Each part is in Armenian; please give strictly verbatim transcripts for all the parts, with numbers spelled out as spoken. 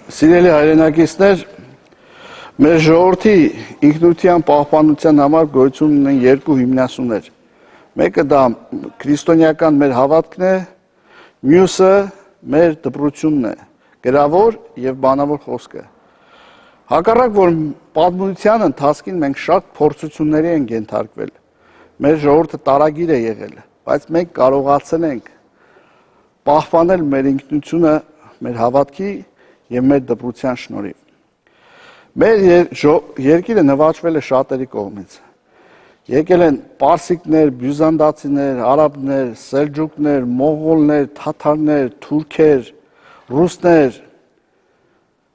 Սիրելի հայրենակիցներ, մեր ժողովրդի ինքնության պահպանության համար գոյություն ունեն երկու հիմնասյուներ։ Մեկը դա քրիստոնեական մեր հավատքն է, մյուսը մեր դպրությունն է, գրավոր եւ բանավոր խոսքը։ Հակառակ որ պատմության ընթացքին մենք շատ փորձությունների ենք ենթարկվել։ Մեր ժողովուրդը տարագիր է եղել, բայց մենք կարողացել ենք պահպանել մեր ինքնությունը, մեր հավատքի եւ մեր դպրության շնորհիվ։ Մեր երկիրը նվաճվել է շատերի կողմից։ Եկել են պարսիկներ, բյուզանդացիներ, արաբներ, սելջուկներ, մողոլներ, թաթարներ, թուրքեր, ռուսներ։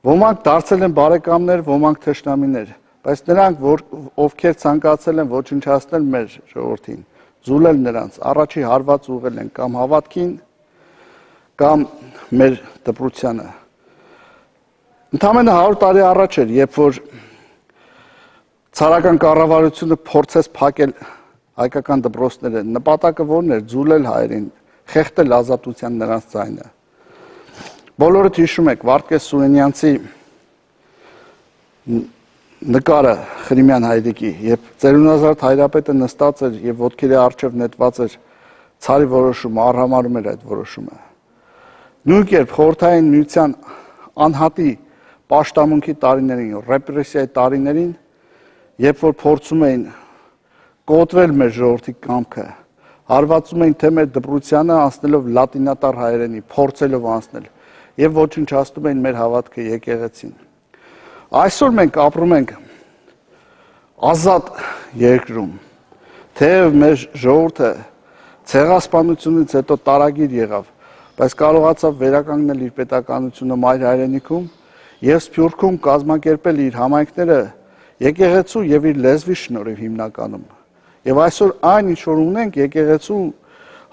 Ոմանք դարձել են բարեկամներ, ոմանք թշնամիներ, բայց նրանք, որ ովքեր ցանկացել են ոչնչացնել մեր ժողովրդին, զուլել նրանց, առաջի հարված ուղղել են կամ հավատքին, կամ մեր դպրությանը։ Ընդամենը հարյուր տարի առաջ էր, երբ որ ցարական կառավարությունը փորձեց փակել հայկական դպրոցները, նպատակը որն էր՝ զուլել հայերին, խեղդել ազատության նրանց ձայնը։ Բոլորդ հիշում եք Վարդգես Սուրենյանցի նկարը Խրիմյան հայրիկի, երբ ծերունազարդ հայրապետը նստած էր եւ ոտքերի առջև նետված էր ցարի որոշումը, արհամարում էր այդ որոշումը։ Նույն կերպ խորհրդային միության անհատի պաշտամունքի տարիներին, ռեպրեսիայի տարիներին, երբ որ փորձում էին կոտրել մեր ժողովրդի կամքը, հարվածում էին թե մեր դպրությանը անցնելով լատինատար հայերենի, փորձելով անցնել եւ ոչնչացնում էին մեր հավատքը եկեղեցին։ Այսօր մենք ապրում ենք ազատ երկրում, թեև մեր ժողովուրդը ցեղասպանությունից հետո տարագիր եղավ, բայց կարողացավ վերականգնել իր պետականությունը մայր հայրենիքում եւ Սփյուռքում կազմակերպել իր համայնքները եկեղեցու եւ իր լեզվի շնորհիվ հիմնականում։ Եվ այսօր այն ինչ որ ունենք եկեղեցու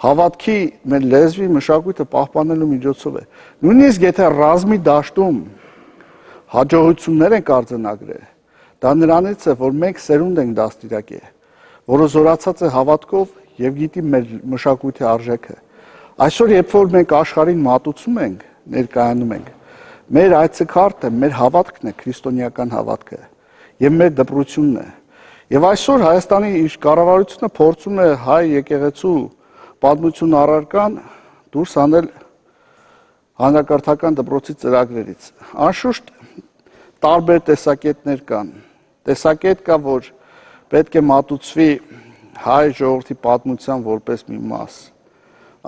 հավատքի մեր լեզվի մշակույթը պահպանելու միջոցով է։ Նույնիսկ եթե ռազմի դաշտում հաջողություններ ենք արձանագրել, դա նրանից է, որ մենք սերունդ ենք դաստիարակել, որը զորացած է հավատքով եւ գիտի մեր մշակույթի արժեքը։ Այսօր երբ որ մենք աշխարհին մատուցում ենք, ներկայանում ենք, մեր այցեքարտը, մեր հավատքն է, քրիստոնեական հավատքը եւ մեր դպրությունն է։ Եվ այսօր Հայաստանի իր կառավարությունը փորձում է հայ եկեղեցու պատմություն առարկան դուրս անել հանրակրթական դպրոցի ծրագրերից։ Անշուշտ տարբեր տեսակետներ կան։ Տեսակետ կա, որ պետք է մատուցվի հայ ժողովրդի պատմության որպես մի մաս։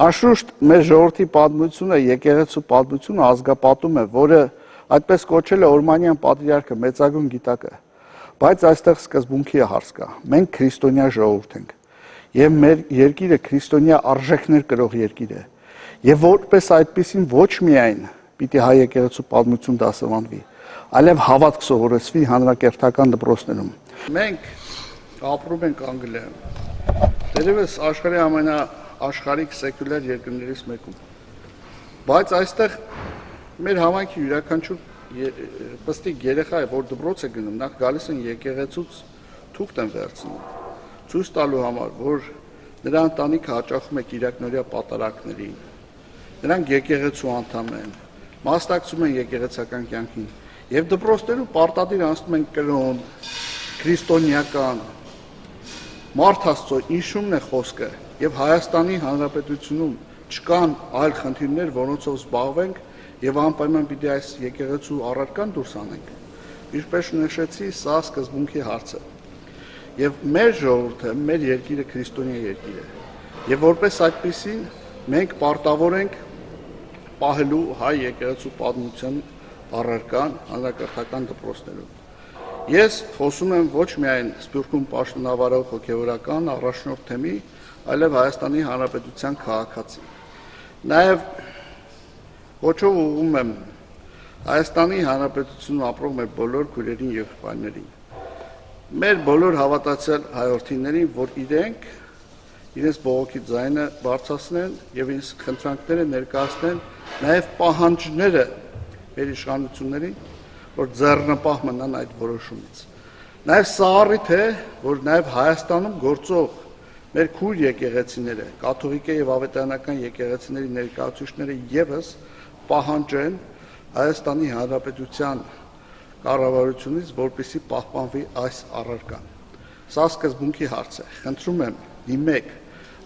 Անշուշտ մեր ժողովրդի պատմությունը, եկեղեցու պատմությունը ազգապատում է, որը այդպես կոչել է Օրմանյան պատրիարքը, մեծագույն գիտակը։ Բայց այստեղ սկզբունքի հարց կա։ Մենք քրիստոնյա ժողովուրդ ենք եւ մեր երկիրը քրիստոնյա արժեքներ կրող երկիր է։ Եվ որպես այդպեսին ոչ միայն պիտի հայ եկեղեցու պատմություն դասավանդվի, այլև հավատք սովորեցվի հանրակրթական դպրոցներում։ Մենք ապրում ենք Անգլիայում։ Դերևս աշխարհի ամենաաշխարհիկ սեկուլյար երկրներից մեկում։ Բայց այստեղ մեր համայնքի յուրաքանչյուր պստիկ երեխա, որ դպրոց է գնում, նախ գալիս են եկեղեցուց թուղթ են վերցնում, ցույց տալու համար, որ նրա ընտանիքը հաճախում է կիրակնօրյա պատարակներին, նրանք եկեղեցու անդամ են, մասնակցում են եկեղեցական կյանքին, եւ դպրոցներում պարտադիր անցնում են կրոն, քրիստոնեական, մարդ Աստծո ինշումն է խոսքը, եւ Հայաստանի Հանրապետությունում չկան այլ խնդիրներ, որոնցով զբաղվենք եւ անպայման պիտի այս եկեղեցու առարկան դուրս անենք։ Ինչպես նշեցի, սա սկզբունքի հարց է։ Եվ մեր ժողովուրդը, մեր երկիրը քրիստոնյա երկիր է։ Եվ որպես այդպեսին մենք պարտավոր ենք պահելու հայ եկեղեցու պատմության առարկան հանրակրթական դպրոցներում։ Ես խոսում եմ ոչ միայն Սփյուռքում պաշտոնավարող հոգևորական առաջնորդ թեմի, այլև Հայաստանի Հանրապետության քաղաքացի։ Նաեւ Ոչով ուղղում եմ Հայաստանի Հանրապետությունում ապրող մեր բոլոր քույրերին եւ եղբայրներին։ Մեր բոլոր հավատացյալ հայրենիներին, որ իրենք իրենց բողոքի ձայնը բարձրացնեն եւ իրենց խնդրանքները ներկայացնեն, նաեւ պահանջները մեր իշխանություններին, որ ձեռնպահ մնան այդ որոշումից։ Նաեւ սա առիթ է, որ նաեւ Հայաստանում գործող մեր քույր եկեղեցիները, կաթողիկե եւ ավետարանական եկեղեցիների ներկայացուցիչները եւս պահանջեն, Հայաստանի Հանրապետության կառավարությունից, որպեսզի պահպանվի այս առարկան։ Սա սկզբունքի հարց է։ Խնդրում եմ դիմեք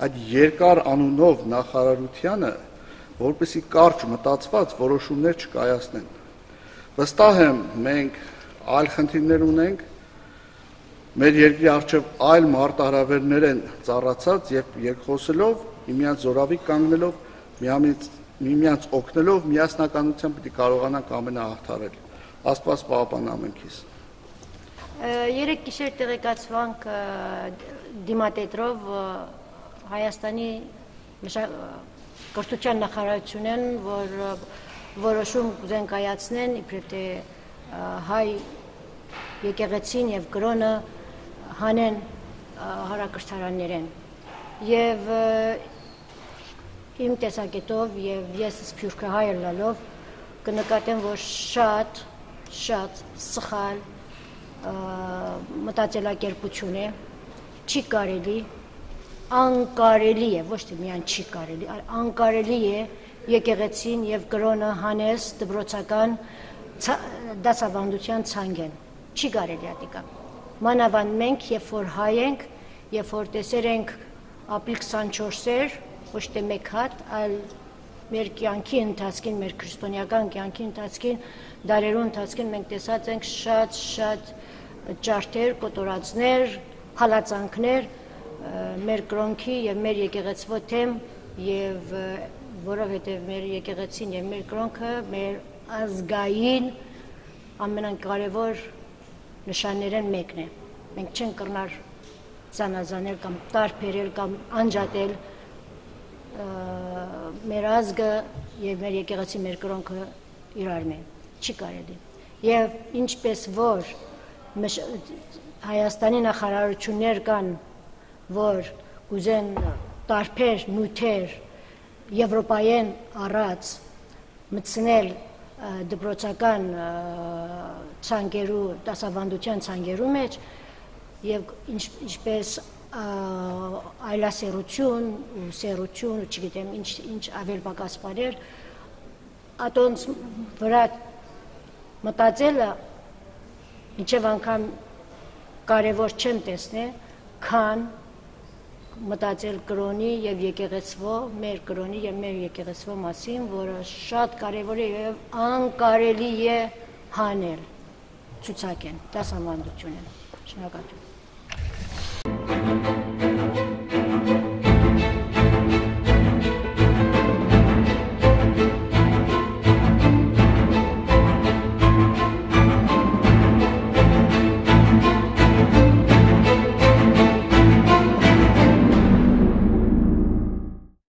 այդ երկար անունով նախարարությանը, որպեսզի կարճ մտածված որոշումներ չկայացնեն։ Վստահ եմ, մենք այլ խնդիրներ ունենք, մեր երկրի առջև այլ մարտահրավերներ են ծառացած եւ երկխոսելով, միմյանց զորավի կանգնելով, միմյանց օգնելով, միասնականությամբ պիտի կարողանանք ամենահաղթարել։ Աստված պահապան ամենքիս։ Երեք գիշեր տեղեկացվանք դիմատետրով Հայաստանի կրթության նախարարությունեն, որ որոշում կուզեն կայացնեն, իբրև թե հայ եկեղեցին եւ կրոնը հանեն հարակրթարաններեն։ Եվ իմ տեսակետով եւ ես սփյուռքը հայ լալով կնկատեմ, որ շատ շատ սխալ մտածելակերպություն է, չի կարելի, անկարելի է, ոչ թե միայն չի կարելի, անկարելի է եկեղեցին եւ կրոնը հանես դպրոցական դասավանդության ցանկեն, չի կարելի ատիկա։ Մանավանդ մենք, երբ որ հայ ենք, երբ որ տեսեր ենք ապրիլ քսանչորսեր, ոչ թե մեկ հատ, այլ մեր կյանքի ընթացքին, մեր քրիստոնեական կյանքի ընթացքին, դարերու ընթացքին մենք տեսած ենք շատ-շատ ջարդեր, կոտորածներ, հալածանքներ մեր կրոնքի եւ մեր եկեղեցվո թեմ եւ որովհետեւ մեր եկեղեցին եւ մեր կրոնքը մեր ազգային ամենակարևոր նշաններն մեկն է։ Մենք չենք կրնար զանազանել կամ տարբերել կամ անջատել մեր ազգը եւ մեր եկեղեցի, մեր կրոնքը իրար մեն, չի կարելի։ Եվ ինչպես որ Հայաստանի նախարարություններ կան, որ կուզեն տարբեր նյութեր եվրոպայեն առած մտցնել դպրոցական ցանկերու, դասավանդության ցանկերու մեջ եւ ինչպես այլասերություն ու սերություն, չգիտեմ ինչ ինչ ավել պակաս բաներ, ատոնց վրա մտածելը ինչև անգամ կարևոր չեմ տեսնել, քան մտածել կրոնի եւ եկեղեցվո, մեր կրոնի եւ մեր եկեղեցվո մասին, որը շատ կարևոր է եւ անկարելի է հանել, ցուցակեն, դասավանդություն է։ Շնորհակալություն։